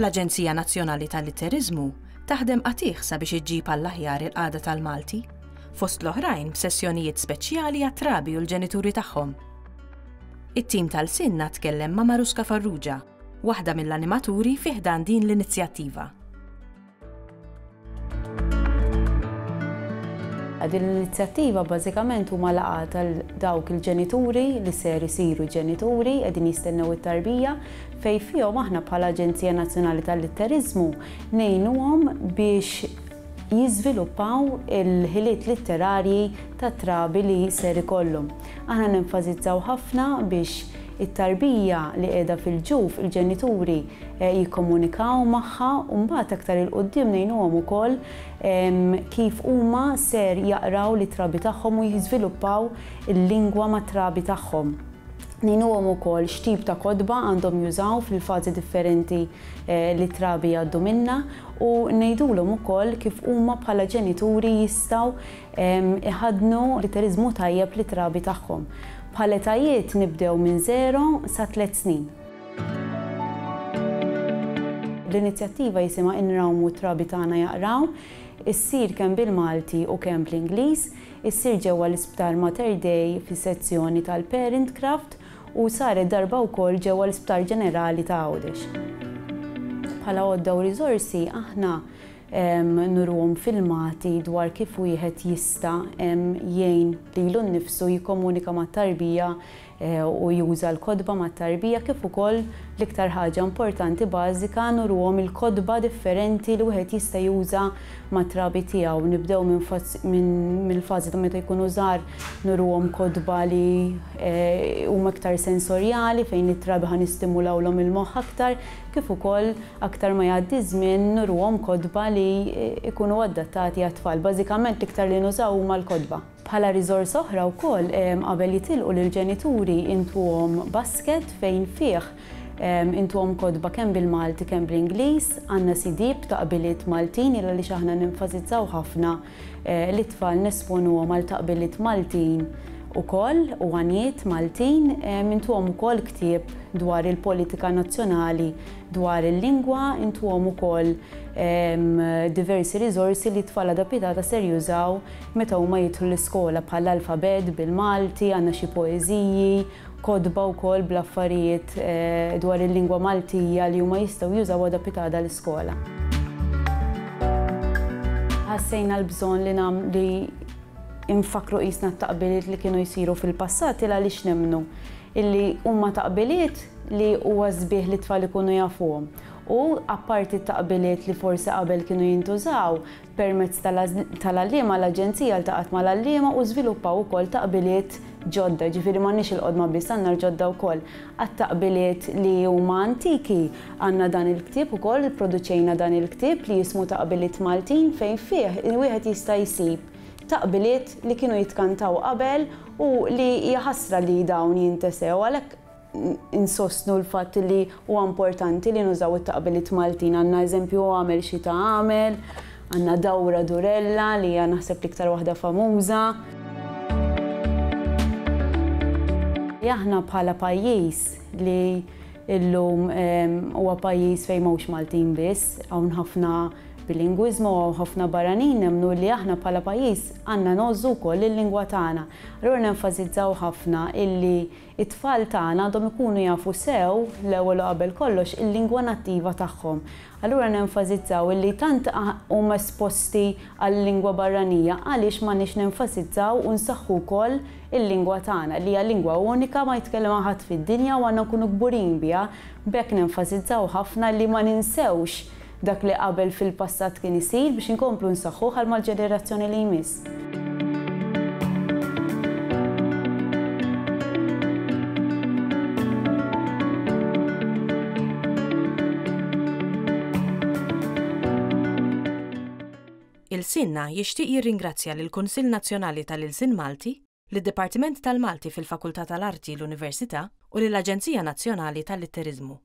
L-Aġenzija Nazzjonali tal-Litteriżmu taħdem qatigħ sabiex iġġib għall-aħjar il-qagħda tal-Malti, fost l-oħrajn b'sessjonijiet speċjali għat-trabi u l-ġenituri tagħhom. It-tim tal-Sinna tkellem ma' Maruska Farrugia, waħda mill-animaturi fi ħdan din l-inizjattiva. Din l-inizjattiva bażikament huma laqgħat għal dawk il-ġenituri li ser isiru ġenituri qegħdin jistennew it-tarbija fejn fihom aħna bħala Aġenzija Nazzjonali tal-Litteriżmu ngħinuhom biex jiżviluppaw il-ħiliet litterarji tat-trabi li ser ikollhom. Aħna nenfasizzaw ħafna biex it-tarbija li qiegħda fil-ġuf, il-ġenituri jikkomunikaw magħha u mbagħad aktar 'il quddiem ngħinuhom ukoll kif huma ser jaqraw lit-trabi tagħhom u jiżviluppaw il-lingwa mat-trabi tagħhom. Ngħinuhom ukoll x'tip ta' kotba għandhom jużaw fil-fażi differenti li t-trabi jgħaddu minnha u ngħidulhom ukoll kif huma bħala ġenituri jistgħu Iħaddnu litteriżmu tajjeb lit-trabi tagħhom. Bħal etajiet nibdew minn żero sa tlett snin. L-inizjattiva jisimha Inrawmu t-trabi tagħna jaqraw. Issir kemm bil-Malti u kemm bl-Ingliż. Issir ġewwa l-Isptar Mater Dei fis-sezzjoni tal-Parent Craft u saret darba wkoll ġewwa l-Isptar Ġenerali ta' Għawdex. Bħala għodda u riżorsi aħna nuruhom filmati dwar kif wieħed jista' jgħin lilu nnifsu jikkomunika mat-tarbija u juża l-kotba mat-tarbija kif ukoll l-iktar ħaġa importanti bażika nuruhom il-kotba differenti li wieħed jista' juża mat-trabi tiegħu. Nibdew minn mill-fażi ta' meta jkunu żgħar nuruhom kotba li huma iktar sensorjali fejn it-trabi ħa nistimulawlhom il-moħħ aktar kif ukoll Aktar ma jgħaddi ż-żmien nuruhom kotba li jkunu adattati għat-tfal. Bażikament l-iktar li nużaw huma l-kotba. Bħala riżorsa oħra wkoll qabel jitilqu lill-ġenituri intuhom basket fejn fih intuhom kotba kemm bil-Malti kemm bl-Ingliż. Għandna CD b'taqbiliet Maltin il għaliex aħna nenfasizzaw ħafna lit-tfal nesponuhom għal taqbiliet Maltin ukoll u għanjiet Maltin. Intuhom ukoll ktieb dwar il-politika nazzjonali Dwar il-lingwa, intuhom ukoll diversi riżorsi li t-tfal għada pitgħada ser jużaw meta huma jidħlu l-iskola bħal l-alfabett bil-Malti, għandna xi poeżiji, kotba wkoll bl-affarijiet dwar il-lingwa Maltija li huma jistgħu jużaw għada pitgħada l-iskola. Ħassejna l-bżonn li li nfakkru qisna t-taqbiliet li kienu jsiru fil-passat il għaliex nemmnu illi huma taqbiliet li huwa sbieħ li t-tfal ikunu jafuhom. U apparti t-taqbiliet li forsi qabel kienu jintużaw, permezz tal-għalliema l-Aġenzija ltaqgħet mal-għalliema u żviluppaw ukoll taqbiliet ġodda, jiġifieri m'għandniex il-qodma biss, għandna l-ġodda wkoll. Għat-taqbiliet li huma antiki għandna dan il-ktieb ukoll, ipproduċejna dan il-ktieb li jismu Taqbiliet Maltin fejn fih wieħed jista' jsib taqbiliet li kienu jitkantaw qabel u li hija ħasra li dawn jintesew għalhekk insostnu l-fatt li huwa importanti li nużaw it-taqbiliet Maltin. Għandna eżempju għamel xita għamel, għandna dawra durella li hija naħseb l-iktar waħda famuża. Aħna bħala pajjiż li illum huwa pajjiż fejn m'hawnx Maltin biss, hawn ħafna bilingwiżmu u hawn ħafna barranin, nemmnu li aħna bħala pajjiż għandna ngħożżu wkoll il-lingwa tagħna. Allura nenfasizzaw ħafna illi t-tfal tagħna għandhom ikunu jafu sew, l-ewwel u qabel kollox, il-lingwa nattiva tagħhom. Allura nenfasizzaw illi tant huma esposti għal-lingwa barranija għaliex m'għandniex nenfasizzaw u nsaħħu wkoll il-lingwa tagħna li hija lingwa unika ma jitkellema ħadd fid-dinja u għandna nkunu kburin biha. B'hekk nenfasizzaw ħafna li ma ninsewx Dak li qabel fil-passat kien isir biex inkomplu nsaħħuh għal mal-ġenerazzjoni li jmiss. Ilsienna jixtieq jirringrazzja lill-Kunsill Nazzjonali tal-Ilsien Malti, lid-Dipartiment tal-Malti fil-Fakultà tal-Arti, l-Università, u lill-Aġenzija Nazzjonali tal-Litteriżmu.